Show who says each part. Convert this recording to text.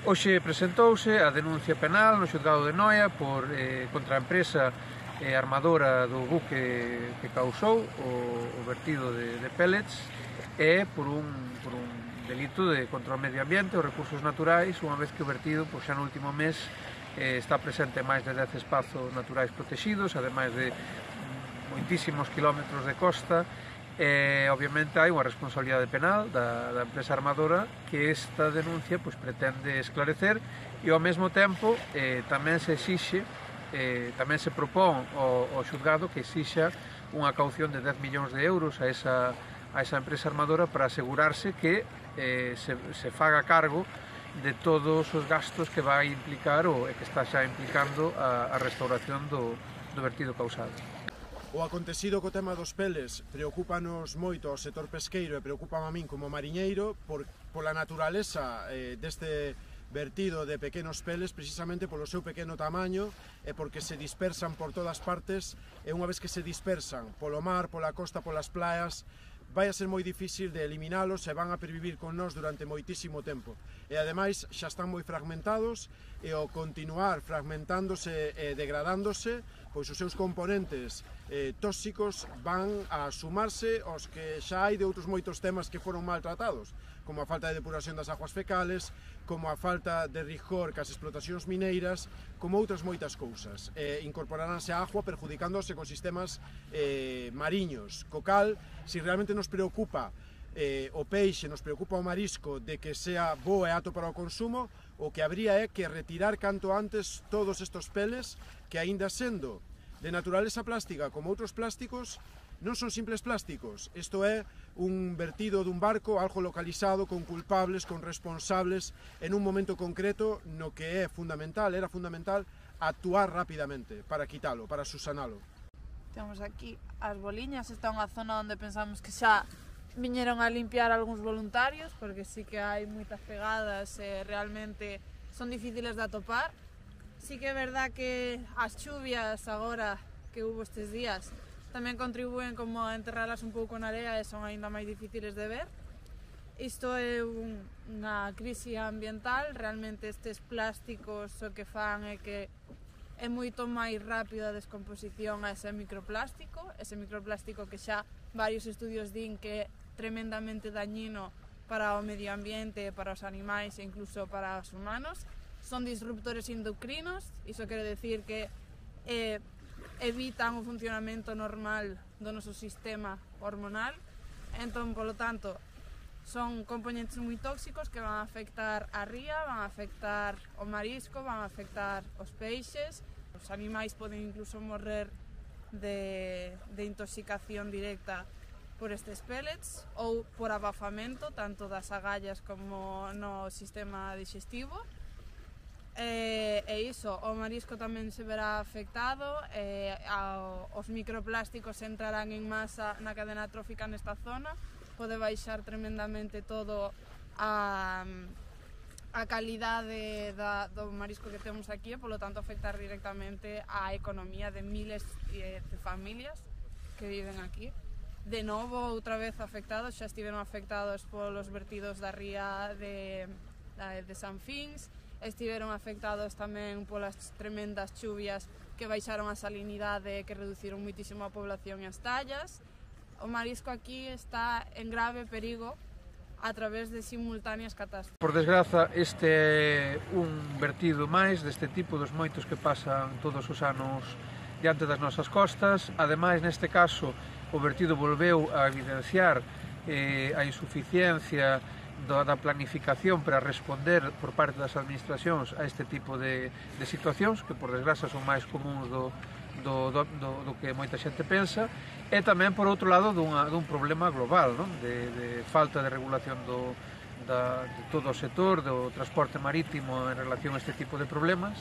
Speaker 1: Hoxe presentouse a denuncia penal no xulgado de Noia contra a empresa armadora do buque que causou o vertido de pellets e por un delito contra o medio ambiente e os recursos naturais, unha vez que o vertido xa no último mes está presente en máis de 10 espazos naturais protegidos, ademais de moitísimos kilómetros de costa. Obviamente hai unha responsabilidade penal da empresa armadora que esta denuncia pretende esclarecer e ao mesmo tempo tamén se exixe, tamén se propón ao xulgado que exixa unha caución de 10 millóns de euros a esa empresa armadora para asegurarse que se faga cargo de todos os gastos que vai implicar e que está xa implicando a restauración do vertido causado.
Speaker 2: O acontecido co tema dos pellets preocúpanos moito ao sector pesqueiro e preocúpame a min como mariñeiro pola naturaleza deste vertido de pequenos pellets, precisamente polo seu pequeno tamaño e porque se dispersan por todas partes e unha vez que se dispersan polo mar, pola costa, polas playas, vai a ser moi difícil de eliminalos e van a pervivir con nós durante moitísimo tempo. E ademais xa están moi fragmentados e ao continuar fragmentándose e degradándose, pois os seus componentes tóxicos van a sumarse aos que xa hai de outros moitos temas que foron maltratados, como a falta de depuración das aguas fecales, como a falta de rigor cas explotacións mineiras, como outras moitas cousas. Incorporaránse a agua perjudicando os ecosistemas mariños, co cal, se realmente nos preocupa o peixe, nos preocupa o marisco de que sea bo e apto para o consumo, o que habría é que retirar canto antes todos estos pellets que, aínda sendo de naturaleza plástica como outros plásticos, non son simples plásticos. Isto é un vertido dun barco, algo localizado, con culpables, con responsables, en un momento concreto no que era fundamental actuar rapidamente para quitalo, para susanalo.
Speaker 3: Temos aquí as boliñas, esta é unha zona onde pensamos que xa viñeron a limpiar algúns voluntarios, porque sí que hai moitas pegadas e realmente son difíciles de atopar. Sí que é verdad que as chuvias agora que hubo estes días tamén contribúen como a enterralas un pouco na area e son aínda máis difíciles de ver. Isto é unha crise ambiental, realmente estes plásticos o que fan é que é moito máis rápida a descomposición a ese microplástico que xa varios estudios din que é tremendamente dañino para o medio ambiente, para os animais e incluso para os humanos. Son disruptores endocrinos, iso quere decir que evitan o funcionamento normal do noso sistema hormonal. Entón, polo tanto, son componentes moi tóxicos que van a afectar a ría, van a afectar o marisco, van a afectar os peixes. Os animais poden incluso morrer de intoxicación directa por estes pellets ou por abafamento, tanto das agallas como no sistema digestivo. E iso, o marisco tamén se verá afectado, os microplásticos entrarán en masa na cadena trófica nesta zona, pode baixar tremendamente todo a calidade do marisco que temos aquí e, polo tanto, afectar directamente á economía de miles de familias que viven aquí. De novo, outra vez afectados, xa estiveron afectados polos vertidos da ría de San Fins, estiveron afectados tamén polas tremendas chuvias que baixaron a salinidade e que reduciron moitísimo a población e as tallas. O marisco aquí está en grave perigo a través de simultáneas catástrofes.
Speaker 1: Por desgraza, este é un vertido máis deste tipo dos moitos que pasan todos os anos diante das nosas costas. Ademais, neste caso, o vertido volveu a evidenciar a insuficiencia da planificación para responder por parte das administracións a este tipo de situacións que, por desgraza, son máis comuns do que moita xente pensa, e tamén, por outro lado, dun problema global, non? De falta de regulación de todo o sector do transporte marítimo en relación a este tipo de problemas.